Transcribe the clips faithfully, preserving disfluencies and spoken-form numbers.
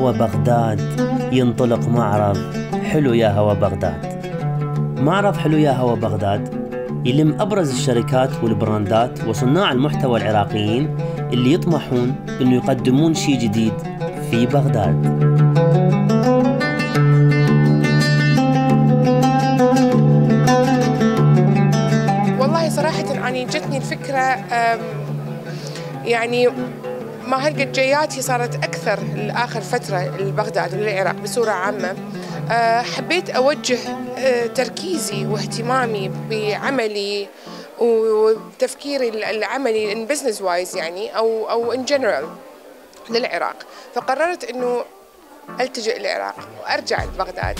هوا بغداد ينطلق معرض حلو يا هوا بغداد. معرض حلو يا هوا بغداد يلم أبرز الشركات والبراندات وصناع المحتوى العراقيين اللي يطمحون إنه يقدمون شيء جديد في بغداد. والله صراحة يعني جتني الفكرة يعني ما هالقد جياتي صارت أكثر لآخر فترة لبغداد وللعراق بصورة عامة. حبيت أوجه تركيزي واهتمامي بعملي وتفكيري العملي in business wise يعني أو أو in general للعراق، فقررت إنه ألتجئ للعراق وأرجع لبغداد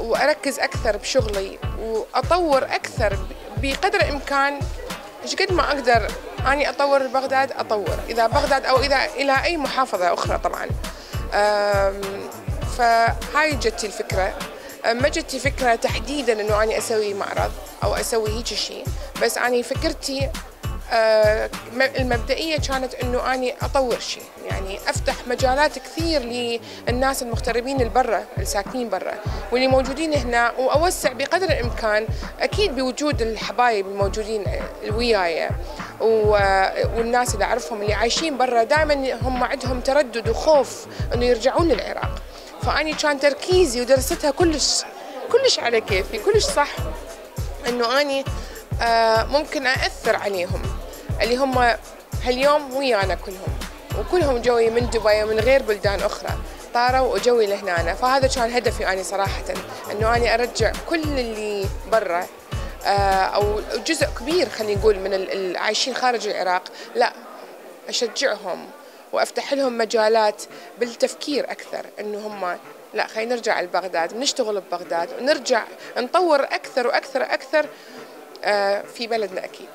وأركز أكثر بشغلي وأطور أكثر بقدر الإمكان. إيش قد ما أقدر أني أطور بغداد أطور، إذا بغداد أو إذا إلى أي محافظة أخرى طبعاً. فهاي جتي الفكرة، ما جتي فكرة تحديداً إنه أنا أسوي معرض أو أسوي هيك شيء، بس أنا فكرتي المبدئية كانت إنه أنا أطور شيء، يعني أفتح مجالات كثير للناس المغتربين البرة الساكنين برا واللي موجودين هنا، وأوسع بقدر الإمكان أكيد بوجود الحبايب الموجودين وياي والناس اللي أعرفهم اللي عايشين برا دائما هم عندهم تردد وخوف إنه يرجعون للعراق. فأني كان تركيزي ودرستها كلش كلش على كيفي كلش صح إنه أني ممكن أأثر عليهم اللي هم هاليوم ويانا كلهم، وكلهم جوي من دبي ومن غير بلدان أخرى طاروا وجوي لهنا. فهذا كان هدفي أنا صراحة، إنه أنا أرجع كل اللي برا أو جزء كبير خلينا نقول من العايشين خارج العراق، لا أشجعهم وأفتح لهم مجالات بالتفكير أكثر، إنه هم لا خلينا نرجع لبغداد ونشتغل ببغداد ونرجع نطور أكثر وأكثر أكثر في بلدنا أكيد.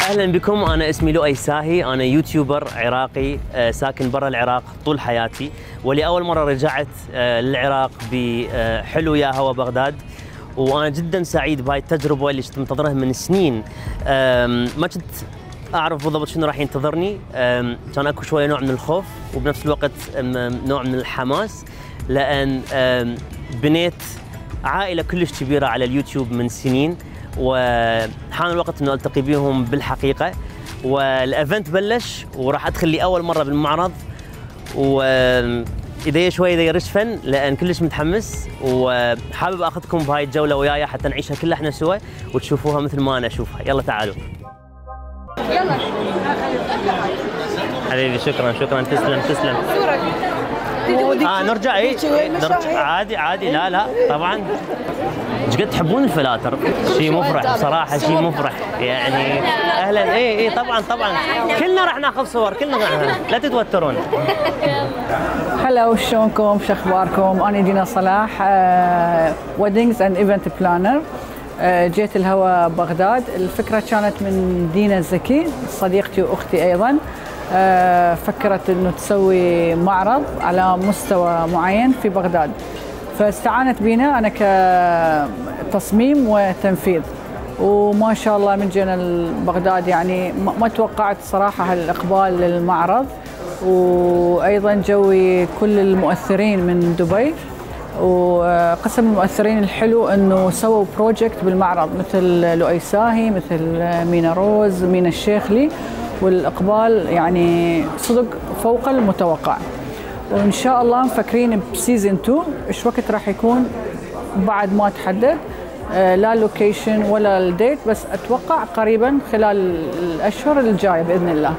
أهلا بكم، أنا اسمي لؤي ساهي، أنا يوتيوبر عراقي ساكن برا العراق طول حياتي، ولأول مرة رجعت للعراق بحلو يا هوا بغداد، وأنا جدا سعيد بهاي التجربة اللي كنت منتظرها من سنين. ما كنت أعرف بالضبط شنو راح ينتظرني، كان أكو شوية نوع من الخوف وبنفس الوقت نوع من الحماس، لأن بنيت عائلة كلش كبيرة على اليوتيوب من سنين، وحان الوقت انه التقي بيهم بالحقيقه. والايفنت بلش وراح ادخل لي اول مره بالمعرض، وايدي شوي ايدي رشفن لان كلش متحمس، وحابب اخذكم بهاي الجوله وياي حتى نعيشها كلها احنا سوا وتشوفوها مثل ما انا اشوفها. يلا تعالوا. يلا حبيبي شكرا شكرا تسلم تسلم. اه نرجع اي نرجع عادي عادي. لا لا طبعا. ايش قد تحبون الفلاتر؟ شيء مفرح بصراحه، شيء مفرح يعني. اهلا. اي اي طبعا طبعا كلنا راح ناخذ صور، كلنا راح، لا تتوترون. هلا شلونكم؟ شو اخباركم؟ انا دينا صلاح، ويدنجز اند ايفنت بلانر. جيت الهوا بغداد. الفكره كانت من دينا الزكي صديقتي واختي ايضا. فكرت انه تسوي معرض على مستوى معين في بغداد، فاستعانت بينا انا كتصميم وتنفيذ، وما شاء الله من جينا لبغداد يعني ما توقعت صراحه هالاقبال للمعرض، وايضا جوي كل المؤثرين من دبي. وقسم المؤثرين الحلو انه سووا بروجكت بالمعرض مثل لؤي ساهي، مثل مينا روز، مينا الشيخلي، والاقبال يعني صدق فوق المتوقع. وان شاء الله مفكرين بسيزون اثنين، ايش وقت راح يكون بعد ما تحدد، لا لوكيشن ولا الديت، بس اتوقع قريبا خلال الاشهر الجايه باذن الله.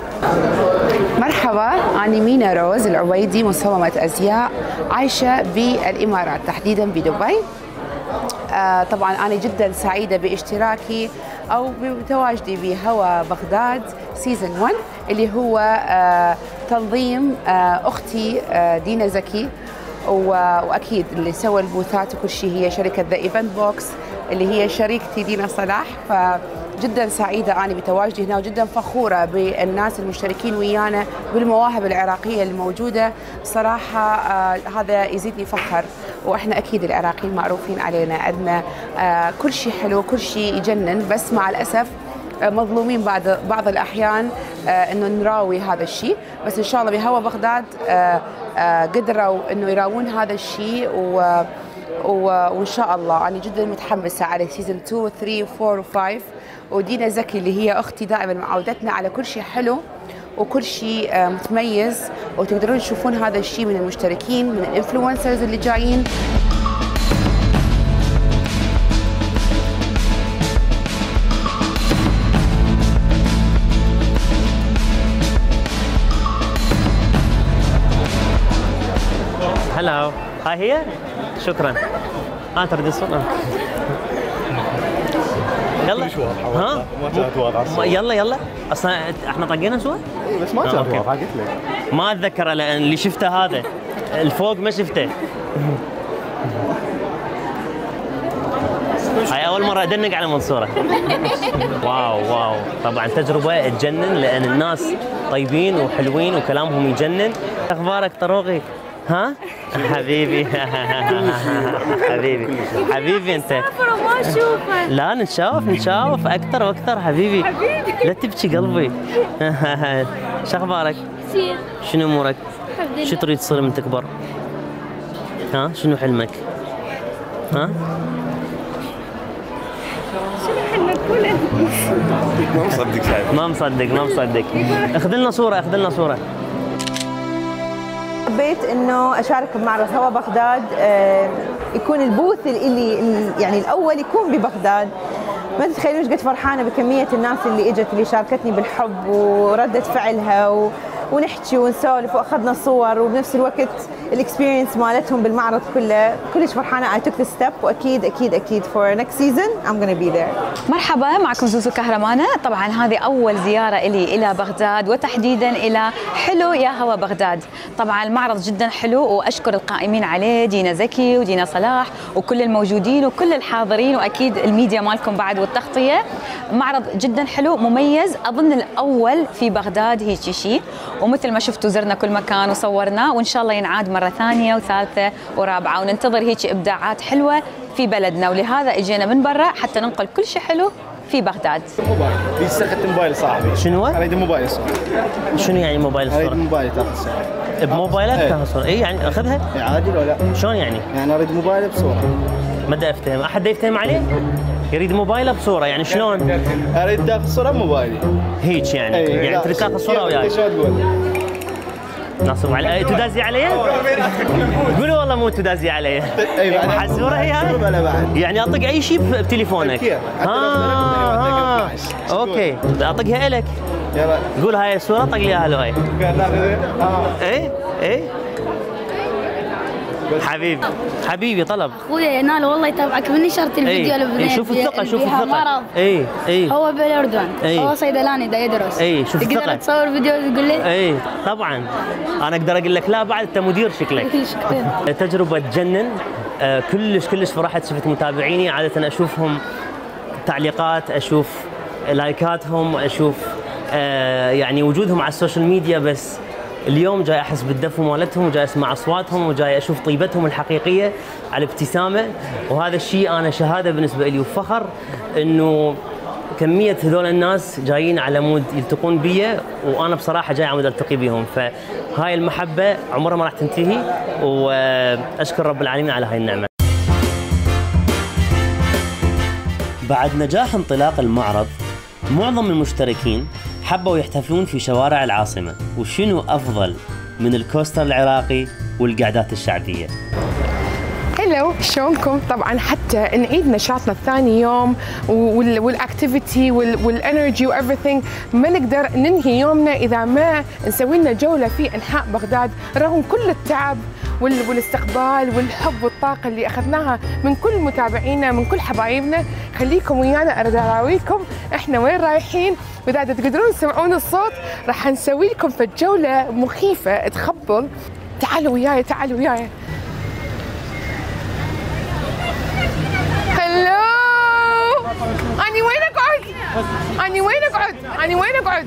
مرحبا، أنا مينا روز العبيدي، مصممة أزياء عايشة بالإمارات تحديدا بدبي. آه طبعا أنا جدا سعيدة باشتراكي أو بتواجدي بهوا بغداد سيزون واحد اللي هو تنظيم أختي دينا زكي، وأكيد اللي سوى البوثات وكل شيء هي شركة ذا ايفنت بوكس اللي هي شريكتي دينا صلاح. فجدا سعيدة أنا بتواجدي هنا، وجدا فخورة بالناس المشتركين ويانا بالمواهب العراقية الموجودة. صراحة آه هذا يزيدني فخر، وإحنا أكيد العراقيين معروفين علينا عندنا آه كل شيء حلو، كل شيء يجنن، بس مع الأسف آه مظلومين بعض بعض الأحيان آه إنه نراوي هذا الشيء. بس إن شاء الله بهوا بغداد آه آه قدروا إنه يراوون هذا الشيء، و وإن شاء الله أنا جدا متحمسة على سيزون اثنين و ثلاثة و أربعة و خمسة. ودينا زكي اللي هي أختي دائما معودتنا على كل شيء حلو وكل شيء متميز، وتقدرون تشوفون هذا الشيء من المشتركين، من الانفلونسرز اللي جايين. هلا، هاي هي؟ شكرا. اه تريد الصورة؟ يلا ها؟ ما يلا يلا اصلا احنا طقينا سوا؟ اي بس ما كان واضح، قلت لك ما اتذكره لان اللي شفته هذا الفوق ما شفته. هاي اول مرة ادنق على منصورة. واو واو، طبعا تجربة تجنن لان الناس طيبين وحلوين وكلامهم يجنن. اخبارك طروقي؟ ها؟ حبيبي حبيبي حبيبي انت ما اشوفك. لا نتشاف نتشاف اكثر واكثر حبيبي. حبيبي لا تبكي قلبي. شو اخبارك؟ زين. شنو امورك؟ الحمد لله. شو تريد تصير من تكبر؟ ها شنو حلمك؟ ها؟ شنو حلمك؟ قول انت. ما مصدق شايف. ما مصدق ما مصدق. اخذ لنا صورة اخذ لنا صورة. حبيت انه اشارك بمعرض هوا بغداد، يكون البوث اللي يعني الاول يكون ببغداد. ما تتخيلون ايش قد فرحانه بكميه الناس اللي اجت اللي شاركتني بالحب ورده فعلها، و... ونحكي ونسولف واخذنا صور، وبنفس الوقت الاكسبيرينس مالتهم بالمعرض كله. كلش فرحانه. I took the step، واكيد اكيد اكيد for next season I'm gonna be there. مرحبا، معكم زوزو كهرمانة. طبعا هذه أول زيارة إلي إلى بغداد، وتحديدا إلى حلو يا هوا بغداد. طبعا المعرض جدا حلو، وأشكر القائمين عليه دينا زكي ودينا صلاح وكل الموجودين وكل الحاضرين، وأكيد الميديا مالكم بعد والتغطية. معرض جدا حلو مميز، أظن الأول في بغداد هيك شيء، ومثل ما شفتوا زرنا كل مكان وصورنا، وإن شاء الله ينعاد مرة ثانية وثالثة ورابعة، وننتظر هيك إبداعات حلوة في بلدنا. ولهذا اجينا من برا حتى ننقل كل شيء حلو في بغداد. موبايل بيستخدم موبايل صاحبي. شنو؟ اريد موبايل الصورة. شنو يعني موبايل الصورة؟ اريد موبايل تاخذ صورة. بموبايلك تاخذ صورة؟ اي يعني اخذها؟ اي عادي ولا لا؟ شلون يعني؟ يعني اريد موبايل بصورة. ما دا افتهم، احد يفتهم عليه؟ يريد موبايله بصورة، يعني شلون؟ اريد تاخذ صورة بموبايلي. هيك يعني؟ يعني تريد تاخذ صورة وياي؟ شو تقول؟ ناصب علي تدازي علي؟ قولوا والله مو تدازي علي. حسوره هي هاي؟ يعني اطق اي شيء بتليفونك. ها اوكي اطقها الك. يلا قول هاي الصورة طق لي اياها لو هاي. اي اي حبيبي حبيبي طلب. اخويا ينال والله يتابعك من نشرت الفيديو اللي اي شوف الثقة شوف الثقة. مرض. اي اي هو بالاردن. اي هو صيدلاني دا يدرس. اي شوف الثقة. تقدر تصور فيديو تقول لي؟ اي طبعا انا اقدر اقول لك لا بعد انت مدير شكلك. شكرا. تجربة تجنن. آه كلش كلش فرحت، شفت متابعيني عادة اشوفهم تعليقات، اشوف لايكاتهم، اشوف آه يعني وجودهم على السوشيال ميديا، بس اليوم جاي احس بالدفو مالتهم، وجاي اسمع اصواتهم، وجاي اشوف طيبتهم الحقيقيه على ابتسامه. وهذا الشيء انا شهاده بالنسبه لي وفخر انه كميه هذول الناس جايين على مود يلتقون بي، وانا بصراحه جاي على مود التقي بهم. فهاي المحبه عمرها ما راح تنتهي، واشكر رب العالمين على هاي النعمه. بعد نجاح انطلاق المعرض، معظم المشتركين حبوا يحتفلون في شوارع العاصمة، وشنو أفضل من الكوستر العراقي والقعدات الشعبية. هلو شلونكم؟ طبعا حتى نعيد نشاطنا الثاني يوم والاكتيفيتي والانرجي وايفريثينج، ما نقدر ننهي يومنا اذا ما نسوي لنا جوله في انحاء بغداد، رغم كل التعب والاستقبال والحب والطاقه اللي اخذناها من كل متابعينا من كل حبايبنا. خليكم ويانا اريد اراويكم احنا وين رايحين، واذا تقدرون تسمعون الصوت راح نسوي لكم في جوله مخيفه تخبل. تعالوا وياي تعالوا وياي. هلو، أني وين أقعد؟ أني وين أقعد؟ أني وين أقعد؟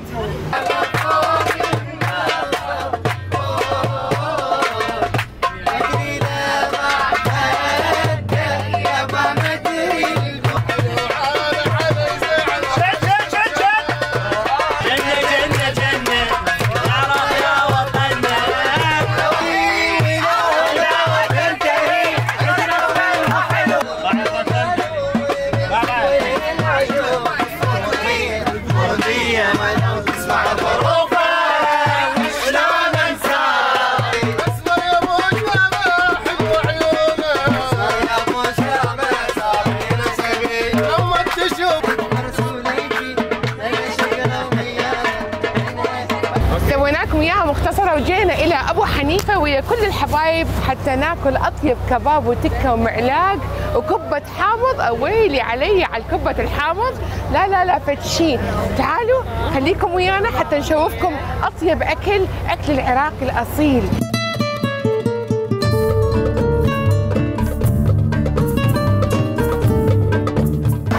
سويناكم اياها مختصره وجينا الى ابو حنيفه ويا كل الحبايب حتى ناكل اطيب كباب وتكه ومعلاق وكبه حامض. اويلي علي على الكبه الحامض، لا لا لا فد شيء. تعالوا خليكم ويانا حتى نشوفكم اطيب اكل، اكل العراقي الاصيل.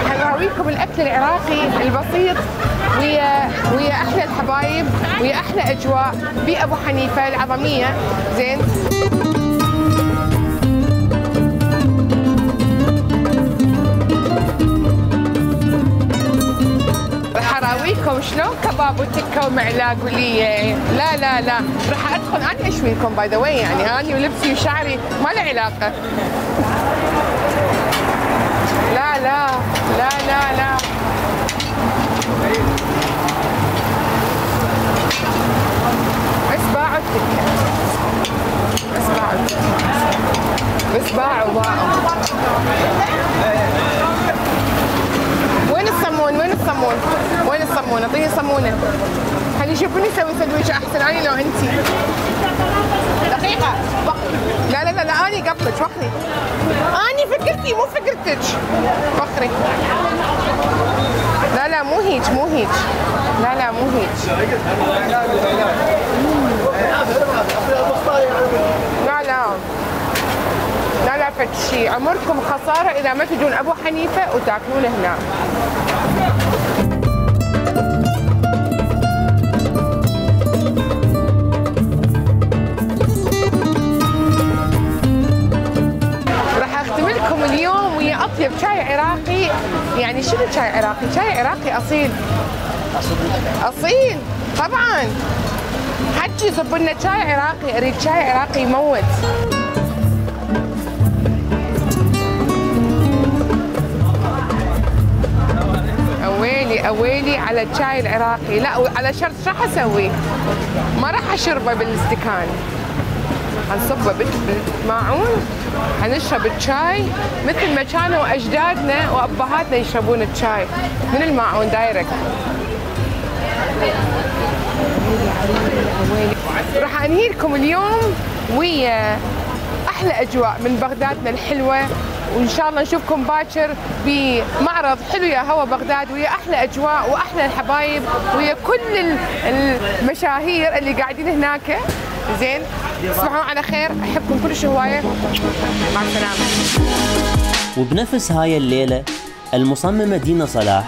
حنراويكم الاكل العراقي البسيط ويا ويا احلى الحبايب ويا احلى اجواء بابو حنيفه العظميه. زين، راح اراويكم شلون كباب وتكه ومعلاق وليه. لا لا لا راح ادخل انا اشوي لكم باي ذا واي، يعني اني ولبسي وشعري ما له علاقه. لا لا لا لا لا بس باعوا التكة، بس باعوا التكة، بس باعوا باعوا. وين الصمون؟ وين الصمون؟ وين الصمون؟ اعطيني صمونة. خلي يشوفوني اسوي سندويشة احسن اني لو انتي. دقيقة لا لا لا لا اني قبلك وخري. اني فكرتي مو فكرتك. وخري. لا لا مو هيك مو هيك. لا لا مو هيك. لا لا لا لا فد شيء. عمركم خسارة إذا ما تجون أبو حنيفة وتاكلون هنا. راح أختم لكم اليوم ويا أطيب شاي عراقي. يعني شنو شاي عراقي؟ شاي عراقي أصيل. أصيل طبعاً. حجي صب لنا شاي عراقي، أريد شاي عراقي يموت. أويلي أويلي على الشاي العراقي. لا على شرط شو راح أسوي؟ ما راح أشربه بالاستكان، حنصبه بالماعون، حنشرب الشاي مثل ما كانوا أجدادنا وأبهاتنا يشربون الشاي من الماعون دايركت. راح انهي لكم اليوم ويا احلى اجواء من بغدادنا الحلوه، وان شاء الله نشوفكم باكر بمعرض حلو يا هوا بغداد ويا احلى اجواء واحلى الحبايب ويا كل المشاهير اللي قاعدين هناك. زين، تصبحون على خير، احبكم كلش هوايه، مع السلامه. وبنفس هاي الليله المصممه دينا صلاح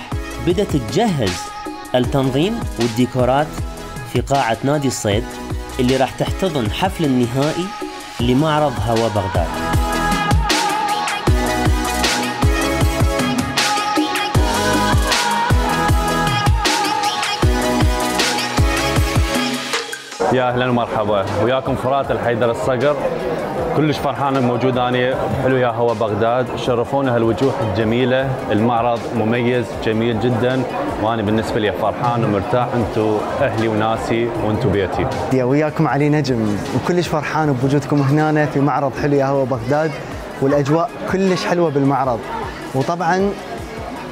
بدأت تجهز التنظيم والديكورات في قاعة نادي الصيد اللي راح تحتضن حفل النهائي لمعرض هوا بغداد. يا اهلا ومرحبا وياكم فرات الحيدر الصقر. كلش فرحان موجود اني بحلو يا هوا بغداد. شرفونا هالوجوه الجميله، المعرض مميز جميل جدا، وانا بالنسبه لي فرحان ومرتاح. انتم اهلي وناسي وانتم بيتي. يا وياكم علي نجم، وكلش فرحان بوجودكم هنا في معرض حلو يا هوا بغداد. والاجواء كلش حلوه بالمعرض. وطبعا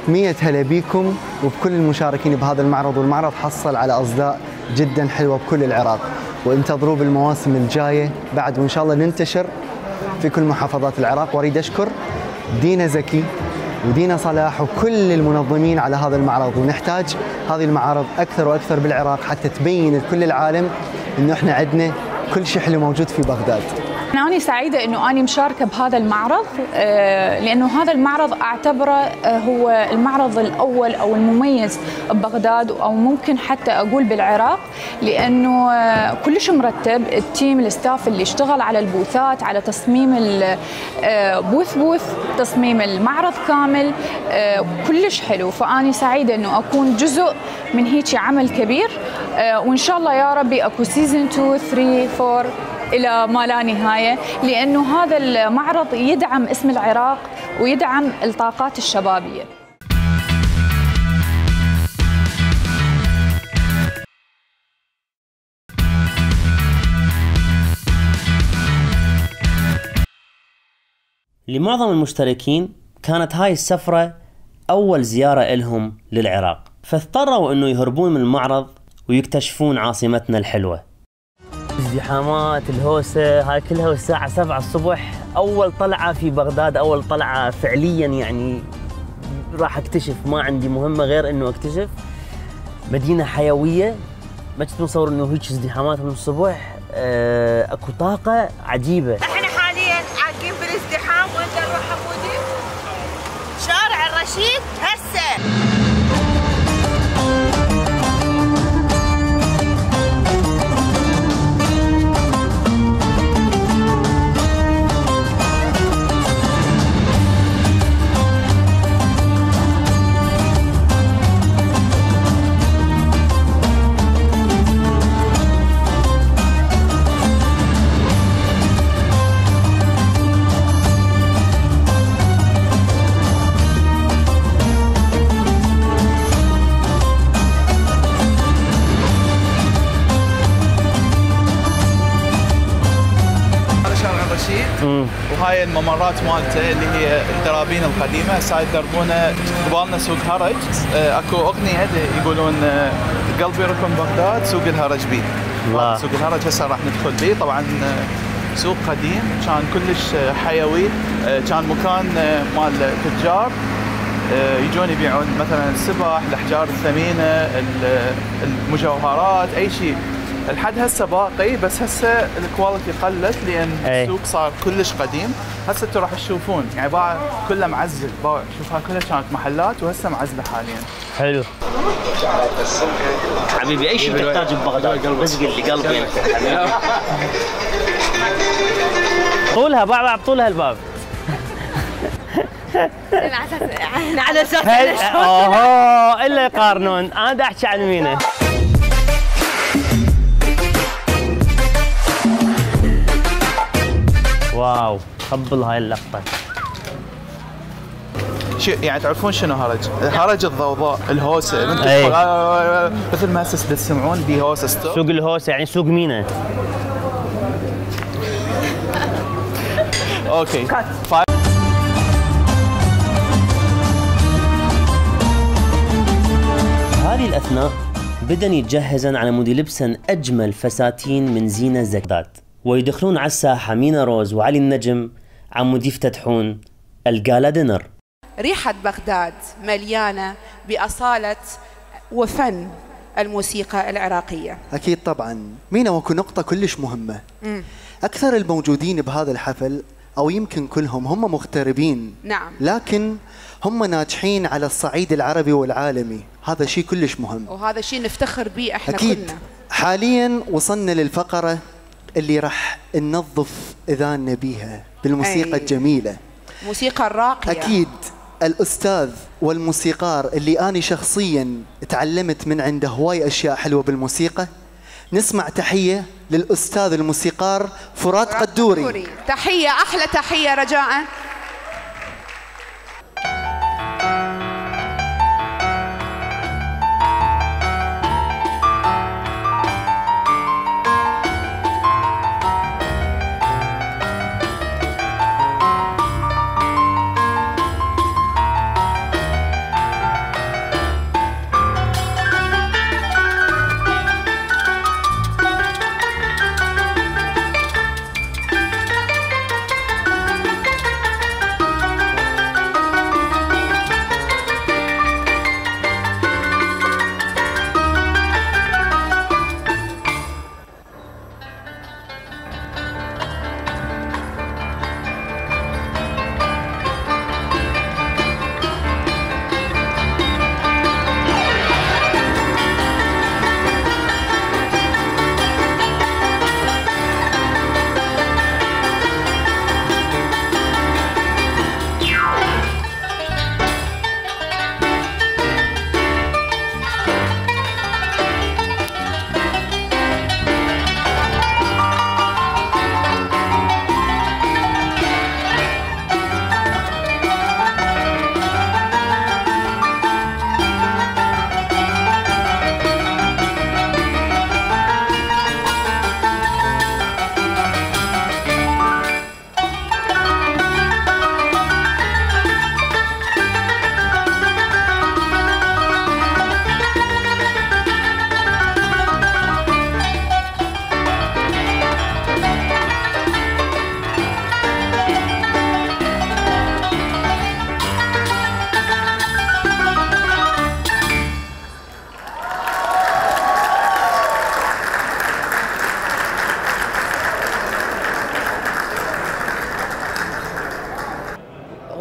مية هلا بيكم وبكل المشاركين بهذا المعرض، والمعرض حصل على اصداء جدا حلوه بكل العراق، وانتظروا بالمواسم الجايه بعد، وان شاء الله ننتشر في كل محافظات العراق. واريد اشكر دينا زكي ودينا صلاح وكل المنظمين على هذا المعرض، ونحتاج هذه المعارض اكثر واكثر بالعراق حتى تبين لكل العالم انه احنا عندنا كل شيء حلو موجود في بغداد. أنا سعيدة أنه أنا مشاركة بهذا المعرض، لأنه هذا المعرض أعتبره هو المعرض الأول أو المميز ببغداد، أو ممكن حتى أقول بالعراق، لأنه كلش مرتب. التيم الستاف اللي اشتغل على البوثات، على تصميم البوث بوث، تصميم المعرض كامل، كلش حلو. فأنا سعيدة أنه أكون جزء من هيك عمل كبير، وإن شاء الله يا ربي أكو سيزن اثنين ثلاثة أربعة إلى ما لا نهاية، لأنه هذا المعرض يدعم اسم العراق ويدعم الطاقات الشبابية. لمعظم المشتركين كانت هاي السفرة أول زيارة إلهم للعراق، فاضطروا أنه يهربون من المعرض ويكتشفون عاصمتنا الحلوة. ازدحامات، الهوسة هاي كلها، والساعة سبعة الصبح أول طلعة في بغداد، أول طلعة فعليا يعني راح اكتشف، ما عندي مهمة غير انه اكتشف مدينة حيوية. ما كنت متصور انه هيك ازدحامات من الصبح، اه اكو طاقة عجيبة. احنا حاليا عاقين بالازدحام، وانت نروح حمودي شارع الرشيد هسه. وهاي الممرات مالته اللي هي الدرابين القديمه، هسه يدربونه قبالنا سوق هرج. اكو اغنيه يقولون قلبي ركن بغداد سوق الهرج بيه. الله. سوق الهرج هسه راح ندخل بيه. طبعا سوق قديم كان كلش حيوي، كان مكان مال تجار يجون يبيعون مثلا السبح، الاحجار الثمينه، المجوهرات، اي شيء. الحد هسه باقي، بس هسه الكواليتي قلت لان أي. السوق صار كلش قديم. هسه انتم راح تشوفون يعني باع كله معزل، باع شوف هاي كلها كانت محلات وهسه معزله حاليا. حلو حبيبي، اي شيء تحتاج ببغداد بس قل لي قلبي انت حبيبي. طولها باع طولها الباب. على اساس اوه الا يقارنون، انا دا احكي عن مينا. واو قبل هاي اللقطة. شو يعني تعرفون شنو هرج؟ هرج الضوضاء، الهوسة، مثل ما هسه تسمعون دي هوسة ستوب. سوق الهوسة يعني سوق مينا. اوكي. هذه الأثناء بدن يتجهزن على مود يلبسن أجمل فساتين من زينة زكداد، ويدخلون على الساحة مينا روز وعلي النجم عمود يفتتحون الجالا دينر. ريحة بغداد مليانة بأصالة وفن الموسيقى العراقية. أكيد طبعا مينا، وكو نقطة كلش مهمة. م. أكثر الموجودين بهذا الحفل أو يمكن كلهم هم مغتربين. نعم. لكن هم ناجحين على الصعيد العربي والعالمي، هذا شيء كلش مهم. وهذا شيء نفتخر به احنا أكيد. كلنا. حاليا وصلنا للفقرة اللي راح ننظف اذاننا بيها بالموسيقى أي. الجميله، موسيقى الراقيه. اكيد الاستاذ والموسيقار اللي انا شخصيا تعلمت من عنده هواي اشياء حلوه بالموسيقى. نسمع تحيه للاستاذ الموسيقار فرات قدوري. قدوري تحيه، احلى تحيه رجاء.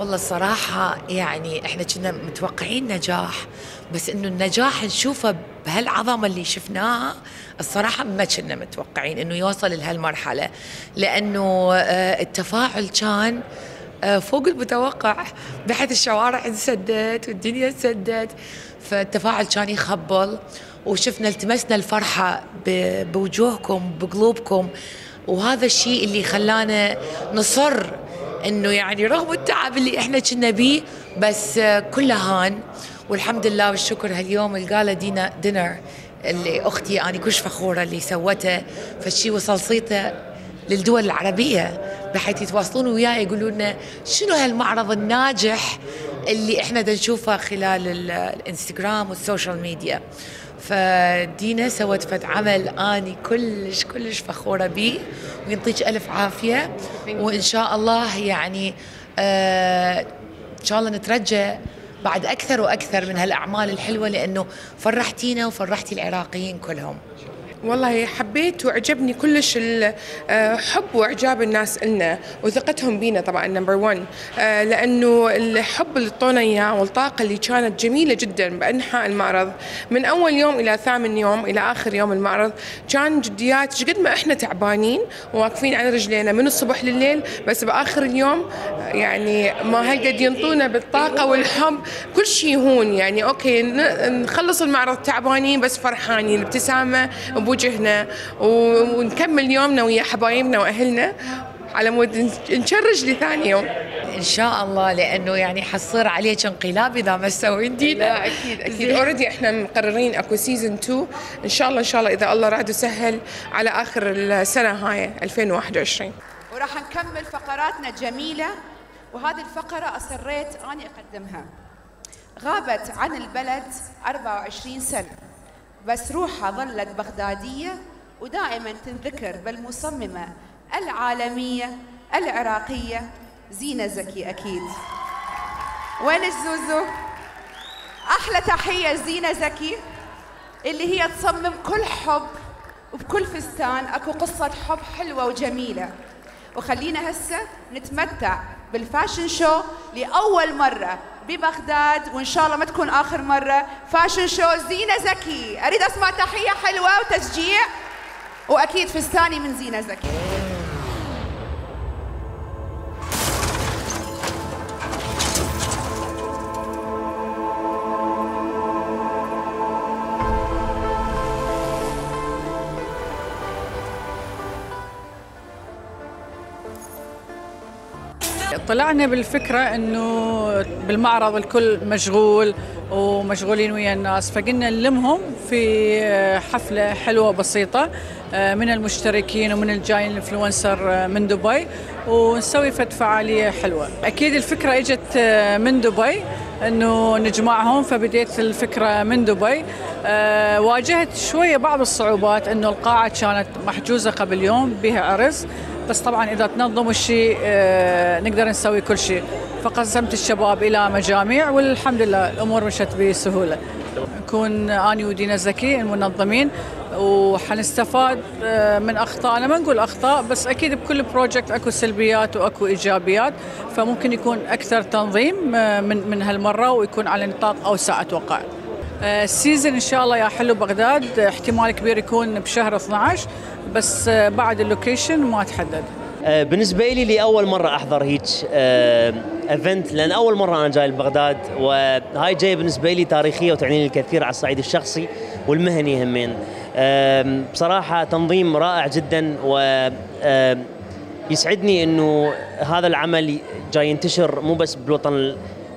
والله الصراحة يعني احنا كنا متوقعين نجاح، بس انه النجاح نشوفه بهالعظمة اللي شفناها الصراحة ما كنا متوقعين انه يوصل لهالمرحلة، لانه التفاعل كان فوق المتوقع، بحيث الشوارع انسدت والدنيا انسدت، فالتفاعل كان يخبل، وشفنا التمسنا الفرحة بوجوهكم بقلوبكم، وهذا الشيء اللي خلانا نصر انه يعني رغم التعب اللي احنا كنا بيه بس كله هان، والحمد لله والشكر. هاليوم القاله دينا دينر اللي اختي انا كلش فخوره اللي سوته، فالشيء وصل صيته للدول العربيه، بحيث يتواصلون وياي يقولوا لنا شنو هالمعرض الناجح اللي احنا دا نشوفه خلال الانستغرام والسوشيال ميديا. فدينا سوت فد عمل اني كلش كلش فخوره بيه، ويعطيك الف عافيه، وان شاء الله يعني آه ان شاء الله نترجى بعد اكثر واكثر من هالاعمال الحلوه، لانه فرحتينا وفرحتي العراقيين كلهم. والله حبيت وعجبني كلش الحب واعجاب الناس لنا وثقتهم بينا طبعا نمبر واحد، لانه الحب اللي اعطونا اياه والطاقه اللي كانت جميله جدا بانحاء المعرض من اول يوم الى ثامن يوم الى اخر يوم المعرض، كان جديات قد ما احنا تعبانين وواقفين على رجلينا من الصبح لليل، بس باخر اليوم يعني ما هالقد ينطونا بالطاقه والحب، كل شيء يهون يعني اوكي نخلص المعرض تعبانين بس فرحانين، الابتسامه بوجهنا، ونكمل يومنا ويا حبايبنا واهلنا على مود نشرج لثاني يوم ان شاء الله، لانه يعني حصير عليك انقلاب اذا ما سوين دينا. لا اكيد اكيد اوريدي احنا مقررين اكو سيزون اثنين ان شاء الله ان شاء الله اذا الله راد وسهل على اخر السنه هاي ألفين وواحد وعشرين، وراح نكمل فقراتنا الجميله. وهذه الفقره اصريت اني اقدمها. غابت عن البلد أربعة وعشرين سنه، بس روحها ظلت بغدادية ودائما تنذكر بالمصممة العالمية العراقية زينة زكي. أكيد وين الزوزو؟ أحلى تحية زينة زكي اللي هي تصمم كل حب وبكل فستان أكو قصة حب حلوة وجميلة. وخلينا هسه نتمتع بالفاشن شو لأول مرة ببغداد، وإن شاء الله ما تكون آخر مرة. فاشن شو زينة زكي، أريد أسمع تحية حلوة وتشجيع، وأكيد فستاني من زينة زكي. طلعنا بالفكرة انه بالمعرض الكل مشغول ومشغولين ويا الناس، فقلنا نلمهم في حفلة حلوة بسيطة من المشتركين ومن الجايين الانفلونسر من دبي، ونسوي فد فعالية حلوة. اكيد الفكرة اجت من دبي انه نجمعهم، فبديت الفكرة من دبي. أه واجهت شوية بعض الصعوبات، انه القاعة كانت محجوزة قبل يوم بها عرس، بس طبعا اذا تنظموا الشيء أه نقدر نسوي كل شيء. فقسمت الشباب الى مجاميع والحمد لله الامور مشت بسهوله. نكون اني ودينا زكي المنظمين، وحنستفاد من اخطائنا، ما نقول اخطاء بس اكيد بكل بروجكت اكو سلبيات واكو ايجابيات، فممكن يكون اكثر تنظيم من من هالمره ويكون على نطاق اوسع اتوقع. السيزن ان شاء الله يا حلو بغداد احتمال كبير يكون بشهر اثنعش، بس بعد اللوكيشن ما تحدد. بالنسبه لي لاول مره احضر هيك ايفنت، لان اول مره انا جاي لبغداد، وهاي جايه بالنسبه لي تاريخيه وتعني لي الكثير على الصعيد الشخصي والمهني همين. بصراحه تنظيم رائع جدا، و يسعدني انه هذا العمل جاي ينتشر مو بس بالوطن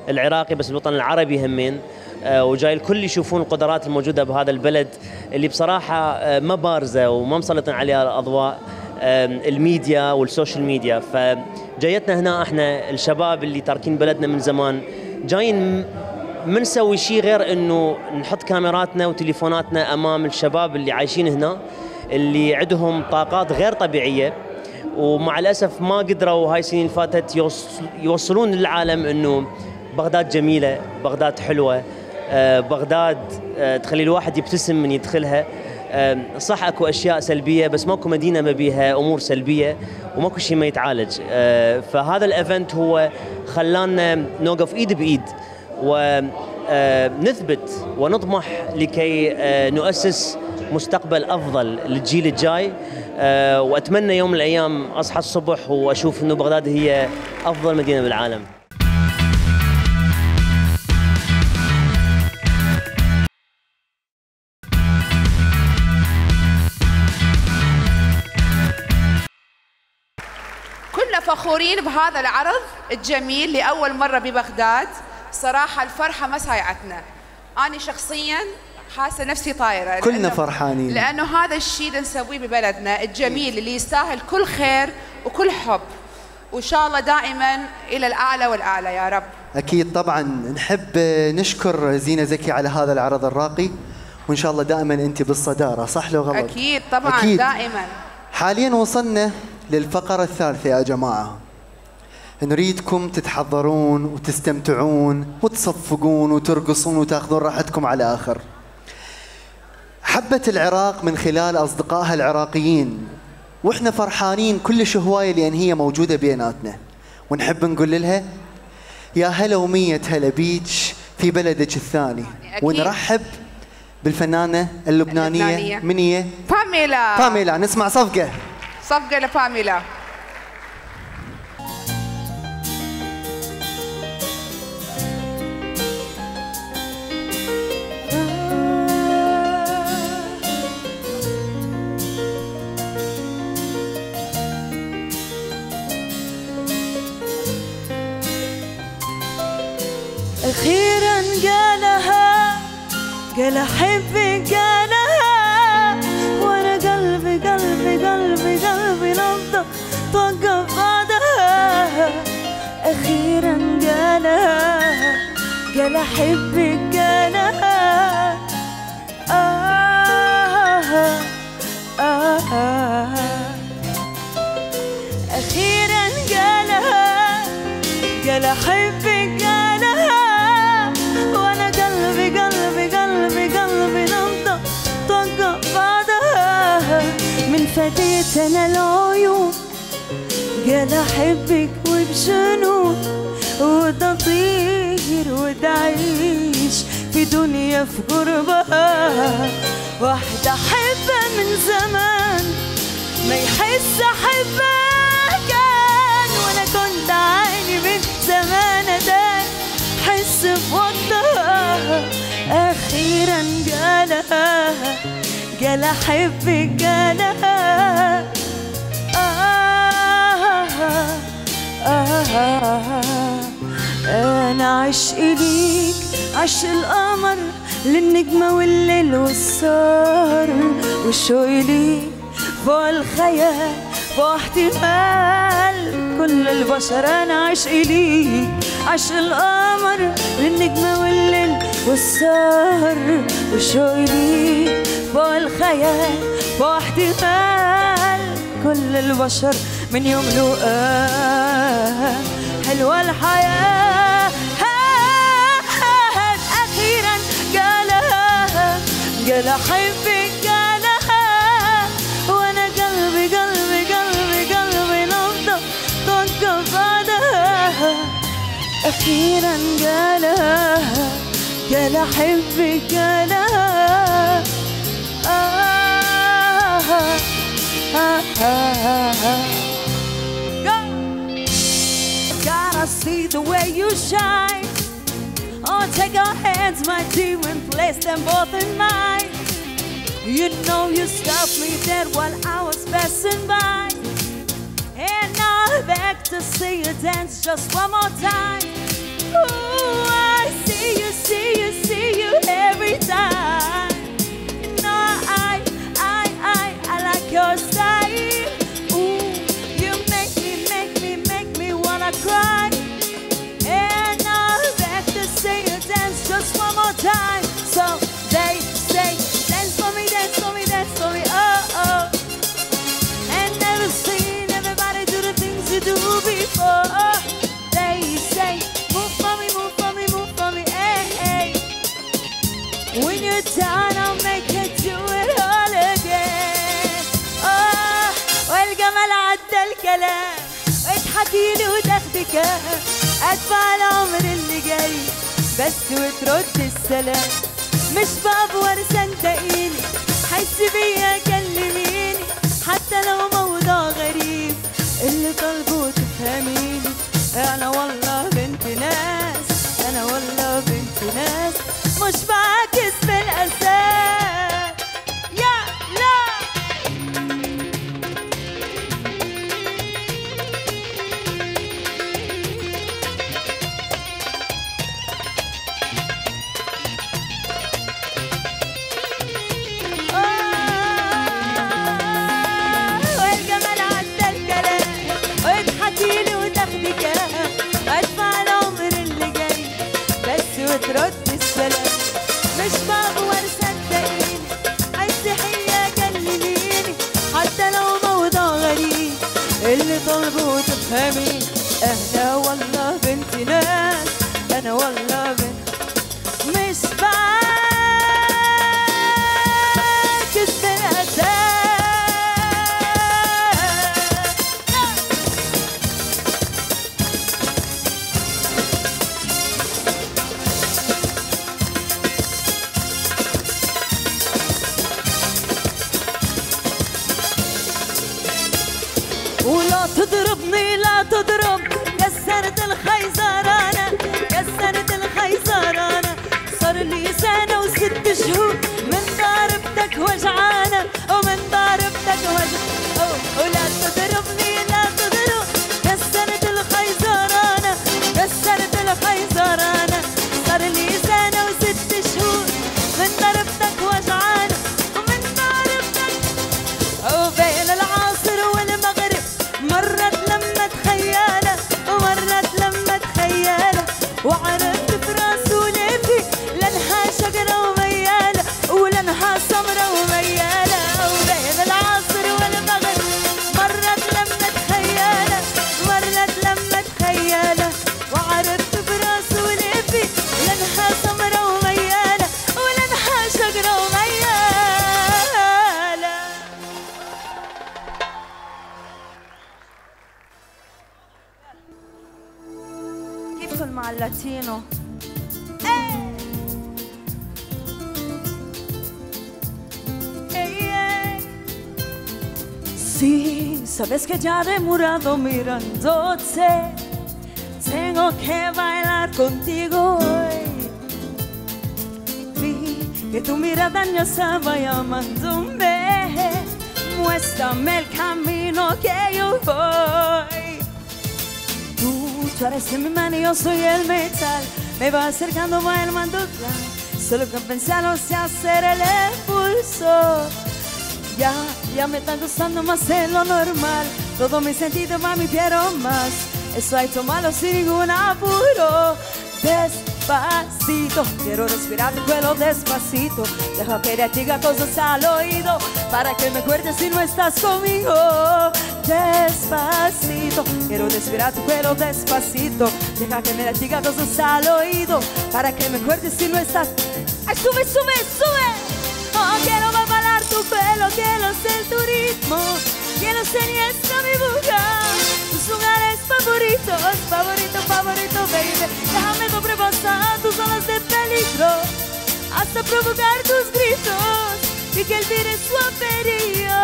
العراقي بس بالوطن العربي همين، وجاي الكل يشوفون القدرات الموجوده بهذا البلد اللي بصراحه ما بارزه وما مسلطين عليها الاضواء الميديا والسوشيال ميديا. فجايتنا هنا احنا الشباب اللي تاركين بلدنا من زمان، جايين ما نسوي شيء غير انه نحط كاميراتنا وتليفوناتنا امام الشباب اللي عايشين هنا، اللي عندهم طاقات غير طبيعيه، ومع الاسف ما قدروا هاي السنين اللي فاتت يوصلون للعالم انه بغداد جميله، بغداد حلوه، بغداد تخلي الواحد يبتسم من يدخلها. صح اكو اشياء سلبيه بس ماكو مدينه ما بيها امور سلبيه وماكو شيء ما يتعالج. فهذا الايفنت هو خلانا نوقف ايد بايد ونثبت ونطمح لكي نؤسس مستقبل افضل للجيل الجاي. واتمنى يوم من الايام اصحى الصبح واشوف انه بغداد هي افضل مدينه بالعالم. كنا فخورين بهذا العرض الجميل لأول مرة ببغداد. صراحة الفرحة ما سايعتنا، أنا شخصياً حاسة نفسي طايرة. كلنا فرحانين لأنه هذا الشيء اللي نسويه ببلدنا الجميل اللي يستاهل كل خير وكل حب، وإن شاء الله دائماً إلى الأعلى والأعلى يا رب. أكيد طبعاً نحب نشكر زينة زكي على هذا العرض الراقي، وإن شاء الله دائماً أنت بالصدارة، صح لو غلط؟ أكيد طبعاً أكيد. دائماً. حالياً وصلنا للفقرة الثالثة يا جماعة. نريدكم تتحضرون وتستمتعون وتصفقون وترقصون وتاخذون راحتكم على آخر. حبت العراق من خلال أصدقائها العراقيين، وإحنا فرحانين كلش هواية لأن هي موجودة بيناتنا، ونحب نقول لها يا هلا ومية هلا بيج في بلدك الثاني. أكيد. ونرحب بالفنانة اللبنانية, اللبنانية. من هي؟ باميلا. باميلا. نسمع صفقة. صفقة لباميلا. أخيراً قالها، قال أحبك قالها، وأنا قلبي قلبي قلبي قلبي نبضة توقف بعدها. أخيراً قالها، قال أحبك قالها. آه آه آه أخيراً قالها، قال أحبك قالها، وانا قلبي قلبي قلبي قلبي نبضة توقف بعدها. من فديت انا العيون قال احبك وبجنون، وتطير وتعيش في دنيا في قربها. واحدة احبها من زمان ما يحس احبها كان، وانا كنت عاني من زمان ادان حس بوقتها. أخيراً قالها، قال أحبك قالها. آه آه آه أنا عشقي ليك عشق القمر للنجمة والليل والسهر، والشوق ليك فوق الخيال فوق احتمال كل البشر. أنا عشقي ليك عشق القمر للنجمة والليل والسهر، والشوق ليك فوق الخيال فوق احتمال كل البشر. من يوم لقاك حلوة الحياة. أخيراً قالها، قال أحبك قالها، وأنا قلبي قلبي قلبي قلبي نبضة توقف بعدها. أخيراً قالها، قال أحبك قالها. آه آه آه آه Gotta see the way you shine. Oh, take your hands, my dear, and place them both in mine. You know you stopped me dead while I was passing by, and now I'm back to see you dance just one more time. Ooh, I see you, see you, see you every time. No, I, I, I, I like your style. Ooh, you make me, make me, make me wanna cry. And now I'm back to see you dance just one more time. So they say, dance for me, dance for me, dance for me, oh, oh. And never seen everybody do the things you do before. They say, move for me, move for me, move for me, hey, hey. When you're tired وتحكيلي وتاخدك ادفع العمر اللي جاي بس وترد السلام مش بأفور صدقيني حس بيا كلميني حتى لو موضوع غريب اللي طالبه تفهميني انا والله بنت ناس انا والله بنت ناس مش بعكس بالاساس يا لا والجمال عدى الكلام وتحكيلي وتاخدك ادفع العمر اللي جاي بس وترد السلام مش بأفور صدقيني عالصحية كلميني حتى لو موضوع غريب اللي طالبه تفهمي انا والله بنت ناس انا والله بنت مش بعكس بالاساس ولا تضربني لا تضرب كسرت الخيزرانة كسرت الخيزرانة صار لي سنة وست شهور من ضربتك وجعانة ومن ضربتك وجعانة ولا تضربني لا تضرب كسرت الخيزرانة كسرت الخيزرانة صار لي سنة وست شهور من ضربتك وجعانة ومن ضربتك وبين العصر والمغرب مرت لما تخيلة ومرت لما تخيلة وعرفت في راسه ليفي لانها شجرة وميالة ولانها سمرة وميالة وبين العصر والمغرب مرت لما تخيلة مرت لما تخيلة وعرفت في راسه ليفي لانها سمرة وميالة ولانها شجرة وميالة كيف مع اللاتينو Sí, sabes que ya demorado mirándote. Tengo que bailar contigo hoy. Vi que tu mirada ya estaba llamándome. Muéstrame el camino que yo voy. Tú, tú eres mi mano y yo soy el metal. Me va acercando, va el mandukla. Solo que pensarlo sé hacer el impulso. Ya, ya me está gustando más de lo normal. Todo mi sentido va, me quiero más. Eso hay tomarlo sin ningún apuro. Despacito, quiero respirar tu pelo despacito. Deja que te diga cosas al oído para que me acuerdes si no estás conmigo. Despacito, quiero respirar tu pelo despacito. Deja que me diga cosas al oído para que me acuerdes si no estás. ¡Ay, sube, sube, sube! Oh, quiero balar tu pelo, quiero ser tu ritmo. Quiero ser y esta mi boca. Tus lugares favoritos, favorito, favorito, baby. Déjame sobrepasar tus zonas de peligro hasta provocar tus gritos y que el virus suaverío.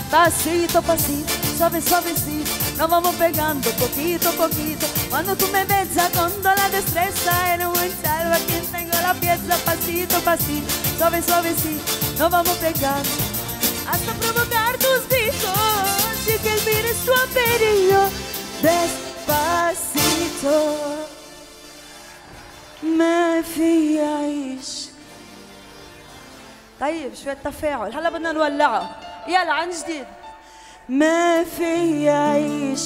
Pasito, pasito, suave, suavecito. Nos vamos pegando poquito, poquito. Cuando tú me besas con toda la destreza en un salvo a quien tengo la pieza. Pasito, pasito, suave, suavecito. Nos vamos pegando hasta provocar tus gritos y que el virus suaverío. Despacito ما في عيش. طيب شوية تفاعل هلا بدنا نولعه. يلا عن جديد. ما في عيش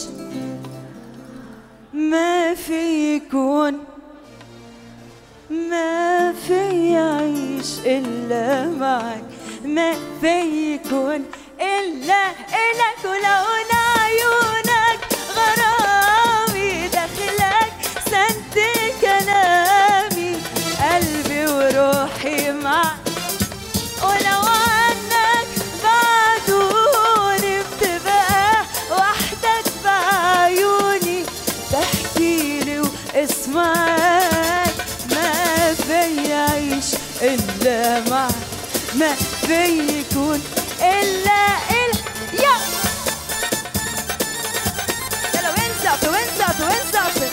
ما في يكون ما في عيش إلا معك. ما في يكون إلا إلك ولون عيونك غرامي داخلك سنت كلامي قلبي وروحي معك. ولو عنك بعدوني بتبقى وحدك بعيوني واسمعك، ما في عيش إلا معك، ما في يكون إلا إلا يا يلا وين زعتوا وين زعتوا وين زعتوا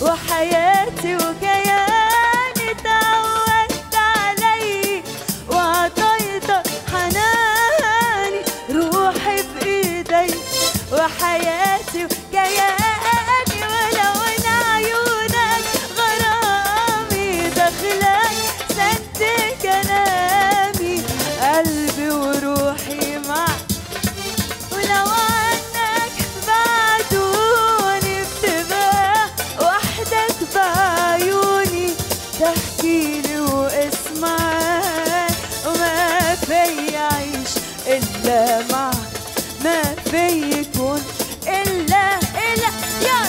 وحياتي وكياني، تعودت علي وعطيتك حناني، روحي بإيدي وحياتي وكياني، ولو إن عيونك غرامي دخلك سد كلامي، قلبي وروحي معك، ولو عنك بعدوني بتبقى وحدك بعيوني، تحكيلي واسمعك، وما في عيش إلا معك، ما في يكون إلا إلا يا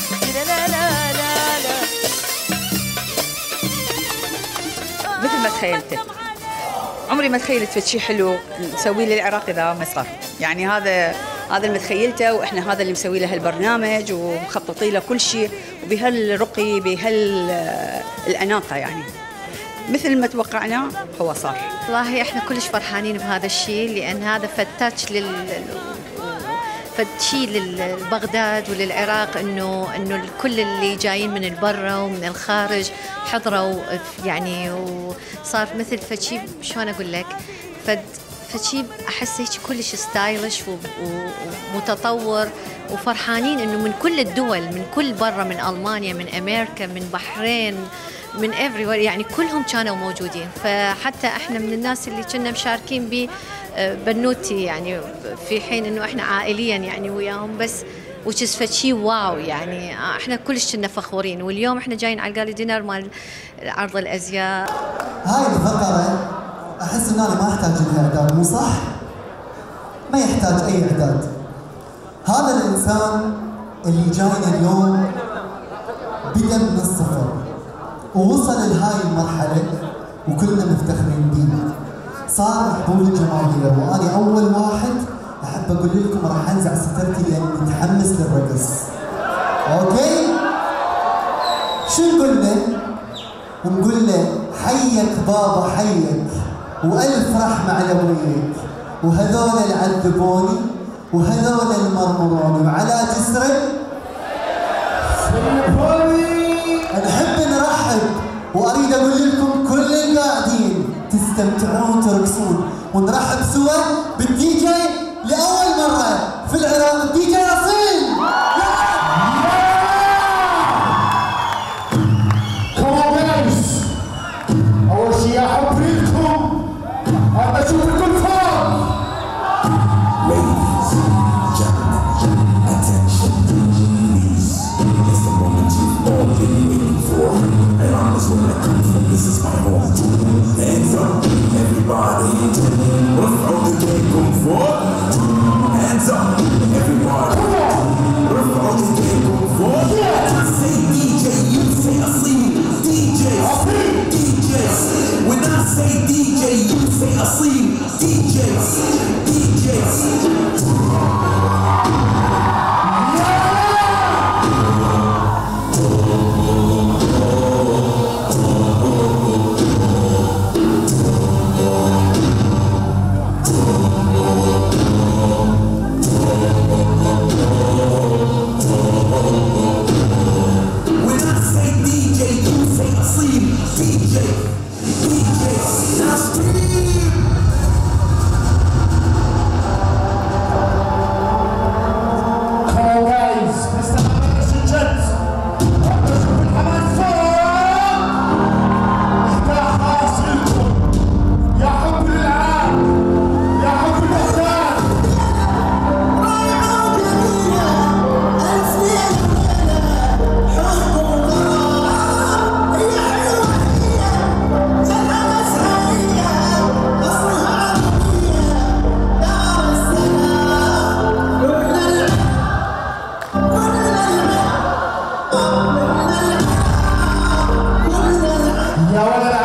لا لا لا لا لا مثل ما تخيلته، عمري ما تخيلت فد شيء حلو نسويه للعراق اذا ما صار، يعني هذا هذا اللي متخيلته، واحنا هذا اللي مسوي له هالبرنامج ومخططين له كل شيء، وبهالرقي بهالاناقه، يعني مثل ما توقعنا هو صار. والله احنا كلش فرحانين بهذا الشيء، لان هذا فتاش لل فشي لبغداد وللعراق، انه انه كل اللي جايين من البرة ومن الخارج حضروا، يعني وصار مثل فشي، شلون اقول لك، فد فشي احس هيك كلش ستايلش ومتطور، وفرحانين انه من كل الدول، من كل برا، من المانيا، من امريكا، من بحرين، من everywhere، يعني كلهم كانوا موجودين. فحتى احنا من الناس اللي كنا مشاركين ب بنوتي، يعني في حين انه احنا عائليا يعني وياهم، بس وتشز فشي واو، يعني احنا كلش كنا فخورين. واليوم احنا جايين على الجالي دينر مال عرض الازياء. هاي الفقره احس ان انا ما احتاج لها اعداد، مو صح؟ ما يحتاج اي اعداد. هذا الانسان اللي جاينا اليوم بدا من الصفر ووصل لهاي المرحله وكلنا مفتخرين بيه. صار محبوب الجماهير، وانا اول واحد احب اقول لكم راح انزع سترتي لاني متحمس للرقص. اوكي؟ شو نقول له؟ نقول له حيك بابا حيك، والف رحمه على ابويك، وهذول اللي عذبوني وهذول اللي مرمروني، وعلى جسري نحب نرحب، واريد اقول لكم كل القاعدين تستمتعون وترقصون، ونرحب سوا بالدي جي لاول مره في العراق، الدي جي اصيل. كومنس اول شيء احب ريحكم، ابى اشوف الكل فوق. Ladies, gentlemen, attention, please. It's the moment you've all been waiting for. And honestly, when I come from, this is my home. Hands up, everybody. What's all the day going for? Hands up, everybody. What's all the day going for? I say D J, you say Asim. D Js, D Js. When I say D J, you say Asim. D Js, D Js. When I say D J, you say Asim. D يا ولد